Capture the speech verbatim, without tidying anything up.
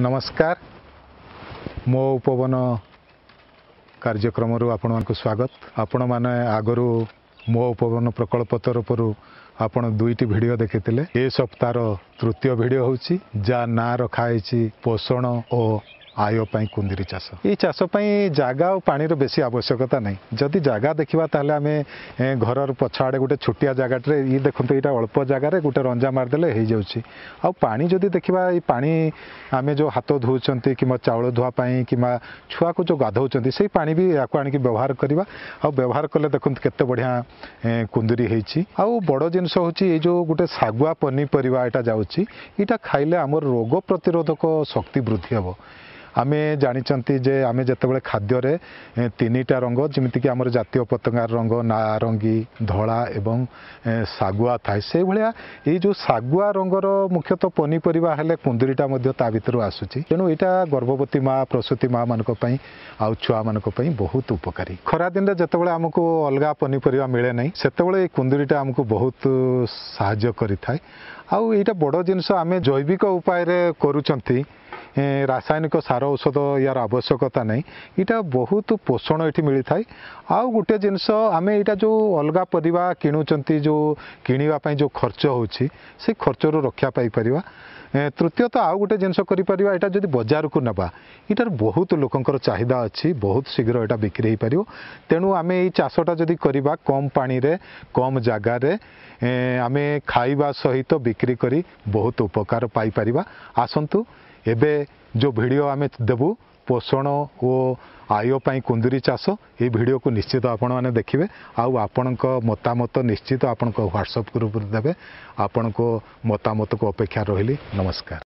ନମସ୍କାର ମୋ ଉପବନ କାର୍ଯ୍ୟକ୍ରମରୁ ଆପଣମାନଙ୍କୁ ସ୍ୱାଗତ ଆପଣମାନେ ଆଗରୁ ମୋ ଉପବନ ପ୍ରକଳ୍ପ ତରଫରୁ ଆପଣ ଦୁଇଟି ଭିଡ଼ିଓ ଦେଖିଥିଲେ ଏ ସପ୍ତାହର ତୃତୀୟ ଭିଡ଼ିଓ ହେଉଛି ଯାହା ନାଁ ରଖାହେଇଛି ପୋଷଣ ଓ ଆୟ ପାଇଁ କୁନ୍ଦିରି ଚାଷ ଏଇ ଚାଷ ପାଇଁ ଜାଗା ଆଉ ପାଣିର ବେଶୀ ଆବଶ୍ୟକତା ନାହିଁ ଯଦି ଜାଗା ଦେଖିବା ତାହେଲେ ଆମେ ଏ, ଘରର ପଛ ଆଡ଼େ ଗୋଟେ ଛୋଟିଆ ଜାଗାଟାରେ ଇଏ ଦେଖନ୍ତୁ ଏଇଟା ଅଳ୍ପ ଜାଗାରେ ଗୋଟେ ରଞ୍ଜା ମାରିଦେଲେ ହେଇଯାଉଛି ଆଉ ପାଣି ଯଦି ଦେଖିବା ଏଇ ପାଣି ଆମେ ଯେଉଁ ହାତ ଧୋଉଛନ୍ତି କିମ୍ବା ଚାଉଳ ଧୁଆ ପାଇଁ କିମ୍ବା ଛୁଆକୁ ଯେଉଁ ଗାଧଉଛନ୍ତି ସେଇ ପାଣି ବି ୟାକୁ ଆଣିକି ବ୍ୟବହାର କରିବା ଆଉ ବ୍ୟବହାର କଲେ ଦେଖନ୍ତୁ କେତେ ବଢ଼ିଆ ଏ, କୁନ୍ଦୁରି ହେଇଛି ଆଉ ବଡ଼ ଜିନିଷ ହେଉଛି ଏଇ ଯେଉଁ ଗୋଟେ ଶାଗୁଆ ପନିପରିବା ଏଇଟା ଯାଉଛି ଏଇଟା ଖାଇଲେ ଆମର ରୋଗ ପ୍ରତିରୋଧକ ଶକ୍ତି ବୃଦ୍ଧି ହେବ ଆମେ ଜାଣିଛନ୍ତି ଯେ ଆମେ ଯେତେବେଳେ ଖାଦ୍ୟରେ ଏ, ତିନିଟା ରଙ୍ଗ ଯେମିତିକି ଆମର ଜାତୀୟ ପତାକାର ରଙ୍ଗ ନାରଙ୍ଗୀ ଧଳା ଏବଂ ଏ, ଶାଗୁଆ ଥାଏ ସେଇଭଳିଆ ଏଇ ଯେଉଁ ଶାଗୁଆ ରଙ୍ଗର ମୁଖ୍ୟତଃ ପନିପରିବା ହେଲେ କୁନ୍ଦୁରିଟା ମଧ୍ୟ ତା ଭିତରୁ ଆସୁଛି ତେଣୁ ଏଇଟା ଗର୍ଭବତୀ ମା ପ୍ରସୂତି ମା ମାନଙ୍କ ପାଇଁ ଆଉ ଛୁଆମାନଙ୍କ ପାଇଁ ବହୁତ ଉପକାରୀ ଖରାଦିନରେ ଯେତେବେଳେ ଆମକୁ ଅଲଗା ପନିପରିବା ମିଳେ ନାହିଁ ସେତେବେଳେ ଏଇ କୁନ୍ଦୁରିଟା ଆମକୁ ବହୁତ ସାହାଯ୍ୟ କରିଥାଏ ଆଉ ଏଇଟା ବଡ଼ ଜିନିଷ ଆମେ ଜୈବିକ ଉପାୟରେ କରୁଛନ୍ତି ଏ, ରାସାୟନିକ ସାର ଔଷଧ ୟାର ଆବଶ୍ୟକତା ନାହିଁ ଏଇଟା ବହୁତ ପୋଷଣ ଏଠି ମିଳିଥାଏ ଆଉ ଗୋଟେ ଜିନିଷ ଆମେ ଏଇଟା ଯେଉଁ ଅଲଗା ପରିବା କିଣୁଛନ୍ତି ଯେଉଁ କିଣିବା ପାଇଁ ଯେଉଁ ଖର୍ଚ୍ଚ ହେଉଛି ସେଇ ଖର୍ଚ୍ଚରୁ ରକ୍ଷା ପାଇପାରିବା ଏ, ତୃତୀୟତଃ ଆଉ ଗୋଟେ ଜିନିଷ କରିପାରିବା ଏଇଟା ଯଦି ବଜାରକୁ ନେବା ଏଇଟାର ବହୁତ ଲୋକଙ୍କର ଚାହିଦା ଅଛି ବହୁତ ଶୀଘ୍ର ଏଇଟା ବିକ୍ରି ହେଇପାରିବ ତେଣୁ ଆମେ ଏଇ ଚାଷଟା ଯଦି କରିବା କମ୍ ପାଣିରେ କମ୍ ଜାଗାରେ ଏ, ଆମେ ଖାଇବା ସହିତ ବିକ୍ରି କରି ବହୁତ ଉପକାର ପାଇପାରିବା ଆସନ୍ତୁ ଏବେ ଯେଉଁ ଭିଡ଼ିଓ ଆମେ ଦେବୁ ପୋଷଣ ଓ ଆୟ ପାଇଁ କୁନ୍ଦୁରି ଚାଷ ଏଇ ଭିଡ଼ିଓକୁ ନିଶ୍ଚିତ ଆପଣମାନେ ଦେଖିବେ ଆଉ ଆପଣଙ୍କ ମତାମତ ନିଶ୍ଚିତ ଆପଣଙ୍କ ହ୍ୱାଟ୍ସଆପ୍ ଗ୍ରୁପରେ ଦେବେ ଆପଣଙ୍କ ମତାମତକୁ ଅପେକ୍ଷା ରହିଲି ନମସ୍କାର